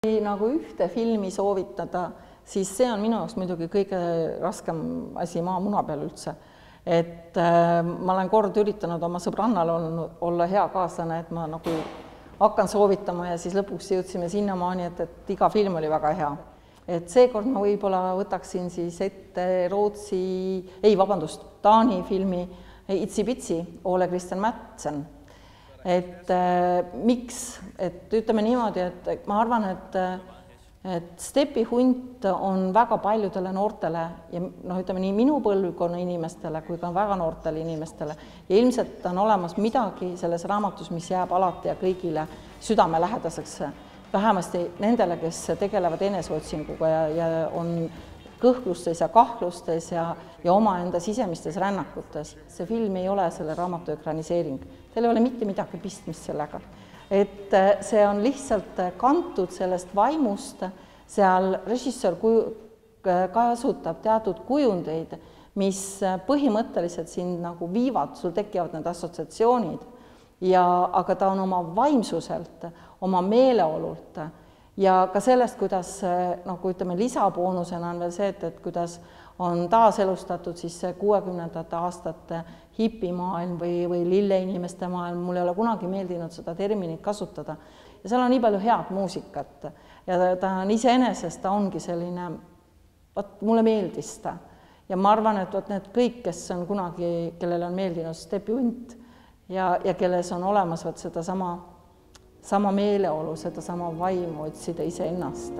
Kui nagu ühte filmi soovitada, siis see on minu jaoks muidugi kõige raskem asi maamuna peal üldse. Et ma olen kord üritanud oma sõbrannal olla hea kaaslane, et ma nagu hakkan soovitama ja siis lõpuks jõudsime sinnamaani, et iga film oli väga hea. Et seekord ma võib-olla võtaksin siis ette Taani filmi Itsipitsi, Ole Christian Madsen. Et miks? Et ütleme niimoodi, et ma arvan, et stepihunt on väga paljudele noortele ja ütleme nii minu põlvkonna inimestele kui ka väga noortele inimestele ja ilmselt on olemas midagi selles raamatus, mis jääb alati ja kõigile südamelähedaseks, vähemasti nendele, kes tegelevad eneseotsinguga ja on kõhklustes ja kahlustes ja omaenda sisemistes rännakutes. See film ei ole selle raamatu ekraniseering. Teil ei ole mitte midagi pistmist sellega. Et see on lihtsalt kantud sellest vaimust, seal režissöör kasutab teatud kujundeid, mis põhimõtteliselt sind nagu viivad, sul tekivad need assotsiatsioonid, aga ta on oma vaimsuselt, oma meeleolult ja ka sellest, kuidas nagu ütleme lisaboonusena on veel see, et kuidas on taaselustatud siis 60ndate aastate hipimaailm või lilleinimeste maailm, mul ei ole kunagi meeldinud seda terminit kasutada. Ja seal on nii palju head muusikat ja ta on iseenesest, ta ongi selline, mulle meeldis ta. Ja ma arvan, et need kõik, kes on kunagi, kellele on meeldinud stepihunt ja kelles on olemas seda sama meeleolu, seda sama vaimu otsida iseennast.